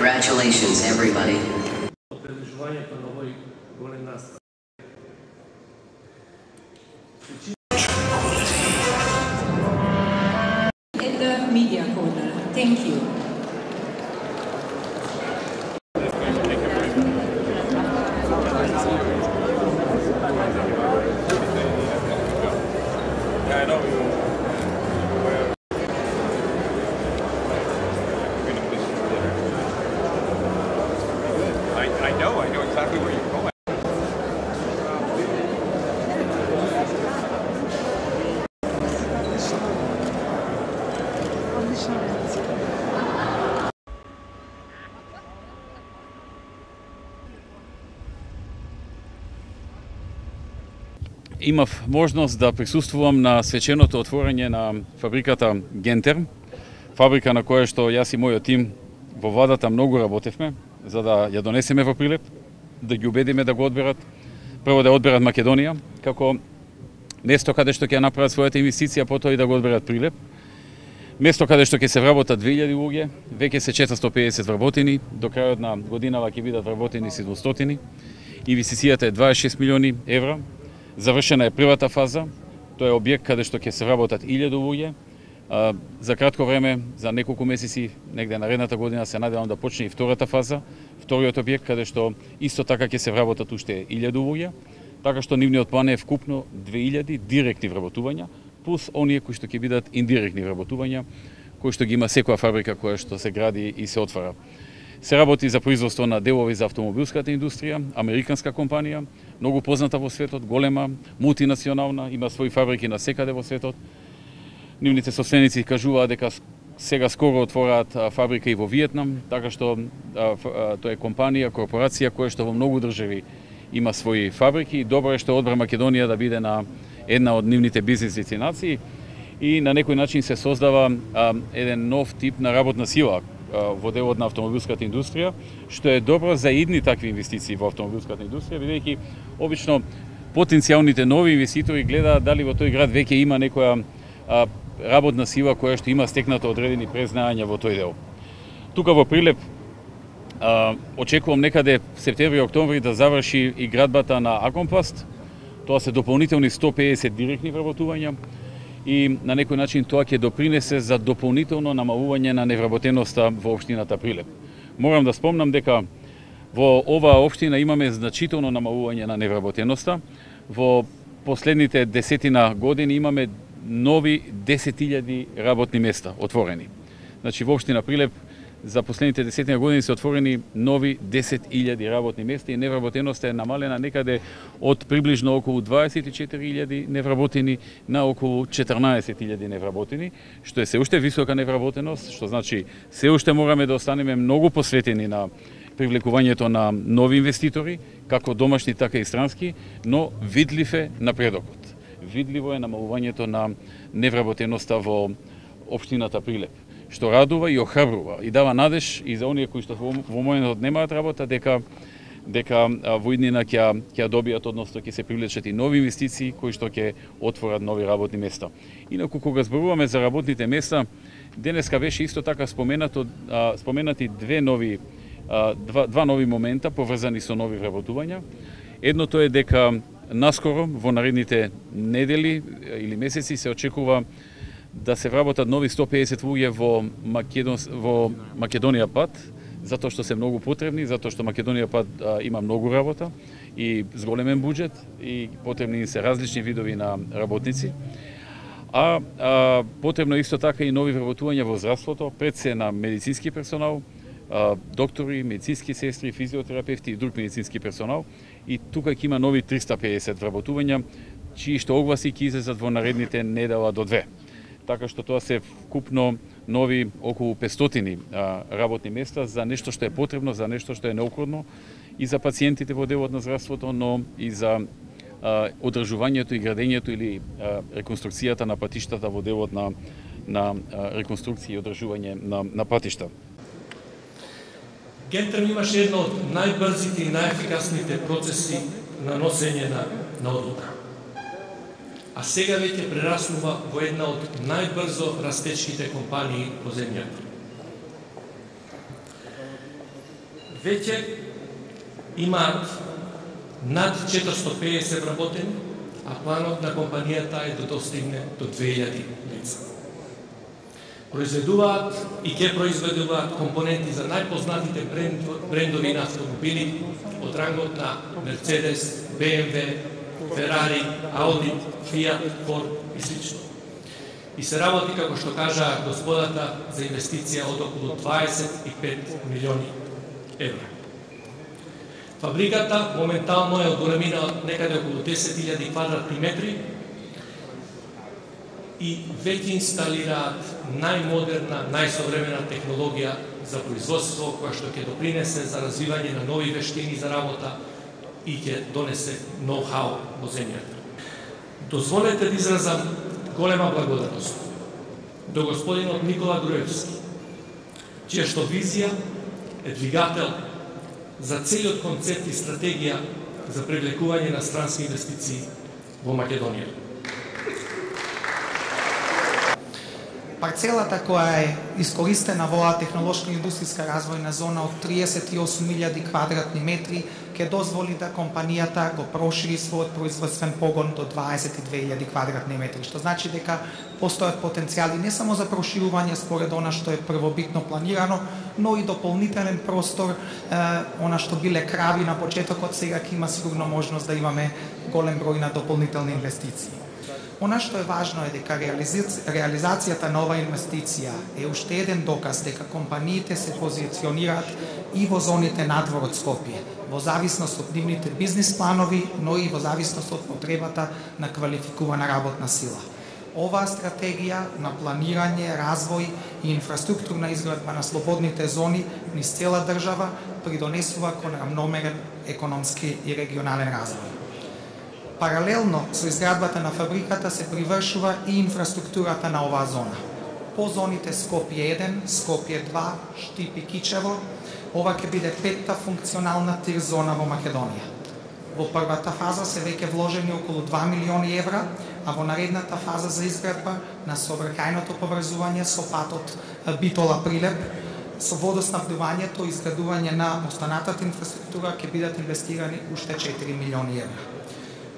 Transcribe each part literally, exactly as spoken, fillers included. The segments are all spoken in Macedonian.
Congratulations, everybody. In the media corner, thank you. I know you. I, I know, I know exactly where you're going. Имав можност да присуствувам на свеченото отворање на фабриката Гентерм, фабрика на која што јас и мојот тим во владата многу работевме за да ја донесеме во Прилеп, да ги убедиме да го одберат, прво да одберат Македонија како место каде што ќе направат својата инвестиција, потоа и да го одберат Прилеп. Место каде што ќе се вработат две илјади луѓе, веќе се четиристотини и педесет вработени, до крајот на годинава ќе бидат вработени седумстотини. Инвестицијата е дваесет и шест милиони евра. Завршена е првата фаза, тоа е објект каде што ќе се вработат илјади луѓе. За кратко време, за неколку месеци, негде наредната година се надевам да почне и втората фаза, вториот објект каде што исто така ќе се вработат уште илјади луѓе, така што нивниот план е вкупно две илјади директни вработувања, плюс оние кои што ќе бидат индиректни вработувања, кои што ги има секоја фабрика која што се гради и се отвара. Се работи за производство на делови за автомобилската индустрија, американска компанија, многу позната во светот, голема, мултинационална, има своји фабрики на секаде во светот. Нивните собственици кажуваат дека сега скоро отвораат фабрика и во Виетнам, така што тоа е компанија, корпорација која што во многу држави има своји фабрики. Добро е што одбра Македонија да биде на една од нивните бизнис дестинации и на некој начин се создава еден нов тип на работна сила во делот на автомобилската индустрија, што е добро за идни такви инвестиции во автомобилската индустрија, бидејќи обично потенцијалните нови инвеститори гледаат дали во тој град веќе има некоја а, работна сила која што има стекнато одредени презнаења во тој дел. Тука во Прилеп а, очекувам некаде септември-октомври да заврши и градбата на Акомпласт. Тоа се дополнителни сто и педесет директни вработувања и на некој начин тоа ќе допринесе за дополнително намалување на невработеноста во општината Прилеп. Морам да спомнам дека во оваа општина имаме значително намалување на невработеноста. Во последните десетина години имаме нови десет илјади работни места отворени. Значи во општина Прилеп за последните десетина години се отворени нови десет илјади работни места и невработеноста е намалена некаде од приближно околу дваесет и четири илјади невработени на околу четрнаесет илјади невработени, што е се уште висока невработеност, што значи се уште мораме да останеме многу посветени на привлекувањето на нови инвеститори, како домашни така и странски, но видлив е напредокот. Видливо е намалувањето на невработеноста во општината Прилеп, што радува и охрабрува и дава надеж и за оние кои што во, во моментот немаат работа дека дека во иднина ќе ќе добијат, односно ќе се привлечат и нови инвестиции кои што ќе отворат нови работни места. Инаку кога зборуваме за работните места, денеска беше исто така споменато споменати две нови два два нови момента поврзани со нови вработувања. Едното е дека наскоро во наредните недели или месеци се очекува да се вработат нови сто и педесет луѓе во Македон, во Македонија пат, затоа што се многу потребни, затоа што Македонија пат а, има многу работа и зголемен буџет и потребни се различни видови на работници. А, а потребно исто така и нови вработувања во здравството, пред се на медицински персонал, а, доктори, медицински сестри, физиотерапевти и друг медицински персонал. И тука ќе има нови триста и педесет вработувања, чии што огласи ќе излезат во наредните недела до две. Така што тоа се вкупно нови околу петстотини работни места за нешто што е потребно, за нешто што е неопходно и за пациентите во делот на здравството, но и за а, одржувањето и градењето или а, реконструкцијата на патиштата во делот на, на а, реконструкција и одржување на, на патишта. Гентерм имаше едно од најбрзите и најефикасните процеси на носење на, на одлука. А сега веќе прераснува во една од најбрзо растечките компании по земјата. веќе имаат над четиристотини и педесет вработени, а планот на компанијата е да достигне до две илјади лица. Произведуваат и ќе произведуваат компоненти за најпознатите брендови на автомобили од рангот на Мерцедес, Б М В, Ферари, Ауди, Фиат, Форд и слично. И се работи, како што кажа господата, за инвестиција од околу дваесет и пет милиони евра. Фабриката моментално е од големина од некаде околу десет илјади квадратни метри и веќе инсталираат најмодерна, најсовремена технологија за производство, која што ќе допринесе за развивање на нови вештини за работа и ќе донесе ноу-хау во земјата. Дозволете да изразам голема благодарност до господинот Никола Груевски, чија што визија е двигател за целиот концепт и стратегија за привлекување на странски инвестиции во Македонија. Парцелата која е искористена во оваа технолошка индустријска развојна зона од триесет и осум илјади квадратни метри ќе дозволи да компанијата го прошири својот производствен погон до дваесет и две илјади квадратни метри, што значи дека постојат потенцијали не само за проширување според она што е првобитно планирано, но и дополнителен простор, е, она што биле крави на почетокот, сега ќе има сигурно можност да имаме голем број на дополнителни инвестиции. Она што е важно е дека реализацијата на оваа инвестиција е уште еден доказ дека компаниите се позиционираат и во зоните надвор од Скопје, во зависност од нивните бизнис планови, но и во зависност од потребата на квалификувана работна сила. Оваа стратегија на планирање, развој и инфраструктурна изградба на слободните зони низ цела држава придонесува кон рамномерен економски и регионален развој. Паралелно со изградбата на фабриката се привршува и инфраструктурата на оваа зона. По зоните Скопје еден, Скопје два, Штип и Кичево, ова ќе биде петта функционална тир зона во Македонија. Во првата фаза се веќе вложени околу два милиони евра, а во наредната фаза за изградба на сообраќајното поврзување со патот Битола-Прилеп, со водоснабдувањето и изградување на останатата инфраструктура ќе бидат инвестирани уште четири милиони евра.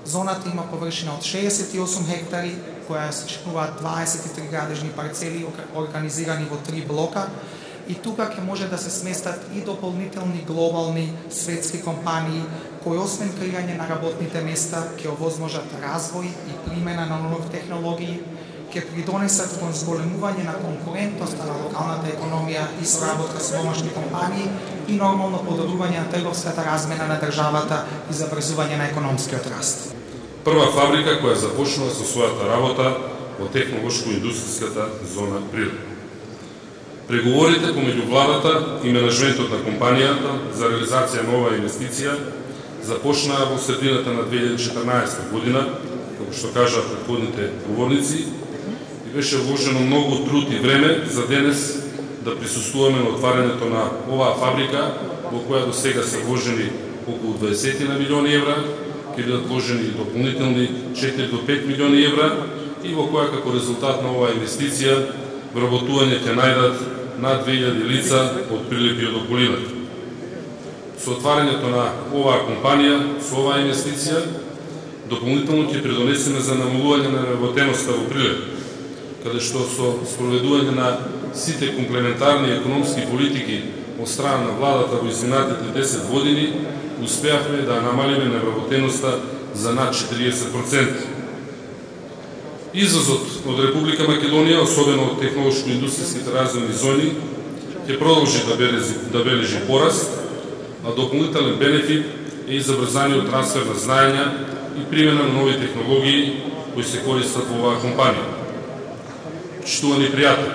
Зоната има површина од шеесет и осум хектари, која сочинуваат дваесет и три градежни парцели организирани во три блока, и тука ќе може да се сместат и дополнителни глобални светски компании кои освен креирање на работните места ќе овозможат развој и примена на нови технологии, ќе придонесат кон зголемување на конкурентноста на локалната економија и соработка со домашни компании и нормално подобрување на трговската размена на државата и заврзување на економскиот раст. Прва фабрика која започнува со својата работа во технолошко-индустријската зона Прилеп. Преговорите помеѓу владата и менеджментот на компанијата за реализација на оваа инвестиција започнаа во средината на две илјади и четрнаесетта година, како што кажаа претходните говорници, и беше вложено многу труд и време за денес да присуствуваме на отварањето на оваа фабрика, во која до сега се вложени околу дваесет милиони евра, ќе бидат вложени дополнителни четири до пет милиони евра и во која како резултат на оваа инвестиција вработување ќе најдат над две илјади лица од Прилеп и од околината. Со отварањето на оваа компанија, со оваа инвестиција, дополнително ќе придонесеме за намалување на неработеноста во Прилеп, каде што со спроведување на сите комплементарни економски политики од страна на владата во изминатите десет години, успеавме да намалиме неработеноста за над четириесет проценти. Изазот од Република Македонија, особено од технолошко-индустријските развојни зони, ќе продолжи да бележи, да бележи пораст, а дополнителен бенефит е и забрзаниот трансфер на знаења и примена на нови технологии кои се користат во оваа компанија. Почитувани пријатели,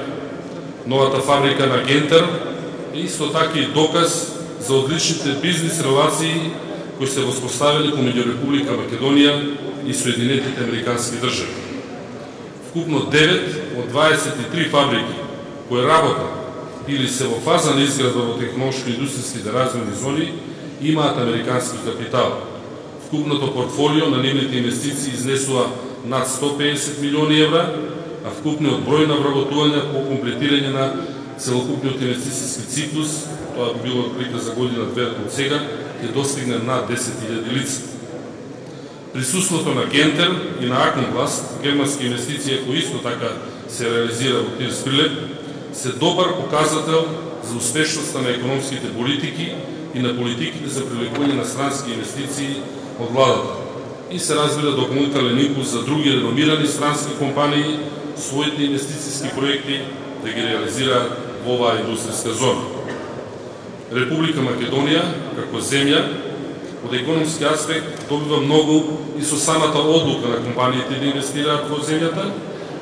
новата фабрика на Гентер е исто така и доказ за одличните бизнис релации кои се воспоставили помеѓу Република Македонија и Соединетите Американски држави. Вкупно девет од дваесет и три фабрики кои работат или се во фаза на изградба во технолошко-индустријските развојни зони имаат американски капитал. Вкупното портфолио на нивните инвестиции изнесува над сто педесет милиони евра, а вкупниот број на вработувања по комплетирање на целокупниот инвестициски циклус, тоа би било отприлика за година две од сега, ќе достигне над десет илјади лица. Присуството на Гентер и на Аконпласт, германски инвестиција кои исто така се реализира во Тирс Прилеп, се добар показател за успешноста на економските политики и на политиките за привлекување на странски инвестиции од владата. И се разбира допълнителен импулс за други реномирани странски компании своите инвестициски проекти да ги реализираат во оваа индустријска зона. Република Македонија, како земја, од економски аспект добива многу и со самата одлука на компаниите да инвестираат во земјата,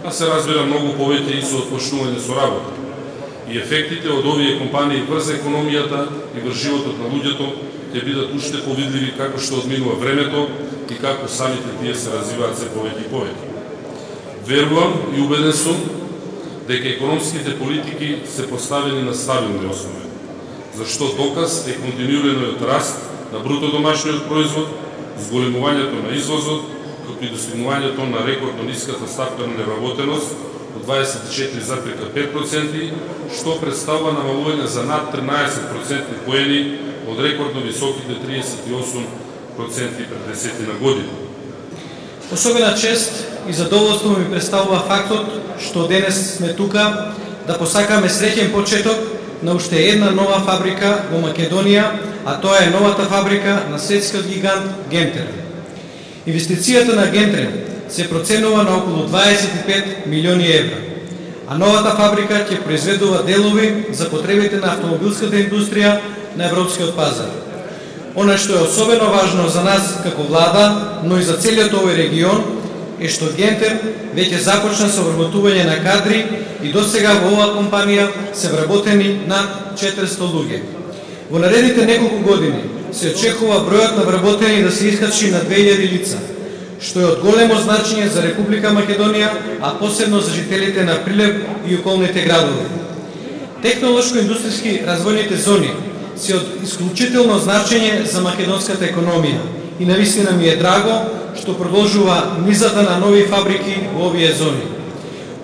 а се разбира многу повеќе и со отпочнување со работа. И ефектите од овие компании врз економијата и врз животот на луѓето ќе бидат уште повидливи како што одминува времето и како самите тие се развиваат се повеќе и повеќе. Верувам и убеден сум дека економските политики се поставени на стабилни основи, зашто доказ е континуираниот раст на бруто домашниот производ, зголемувањето на извозот, како и достигнувањето на рекордно ниската стапка на неработеност од дваесет и четири зарез пет проценти, што представува намалување за над тринаесет процентни поени од рекордно високите триесет и осум проценти пред десетина години. Особена чест и задоволство ми представува фактот што денес сме тука да посакаме среќен почеток на уште една нова фабрика во Македонија, а тоа е новата фабрика на светскиот гигант Гентер. Инвестицијата на Гентер се проценува на околу дваесет и пет милиони евра, а новата фабрика ќе произведува делови за потребите на автомобилската индустрија на европскиот пазар. Она што е особено важно за нас како влада, но и за целиот овој регион, е што Гентер веќе започна со вработување на кадри и досега во оваа компанија се вработени над четиристо луѓе. Во наредните неколку години се очекува бројот на вработени да се искачи на две илјади лица, што е од големо значење за Република Македонија, а посебно за жителите на Прилеп и околните градови. Технолошко-индустријски развојните зони се од исклучително значење за македонската економија и навистина ми е драго што продолжува низата на нови фабрики во овие зони.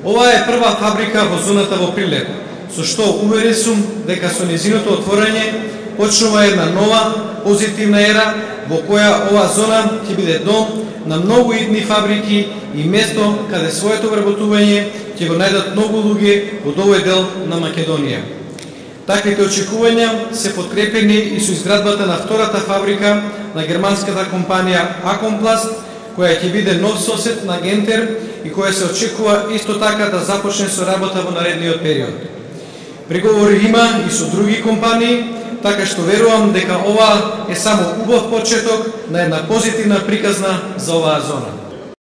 Ова е прва фабрика во зоната во Прилеп, со што уверен сум дека со незиното отворање почнува една нова позитивна ера во која оваа зона ќе биде дом на многу идни фабрики и место каде своето вработување ќе го најдат многу луѓе од овој дел на Македонија. Таквите очекувања се подкрепени и со изградбата на втората фабрика на германската компанија Аконпласт, која ќе биде нов сосед на Гентер и која се очекува исто така да започне со работа во наредниот период. Преговори има и со други компании, така што верувам дека ова е само убав почеток на една позитивна приказна за оваа зона.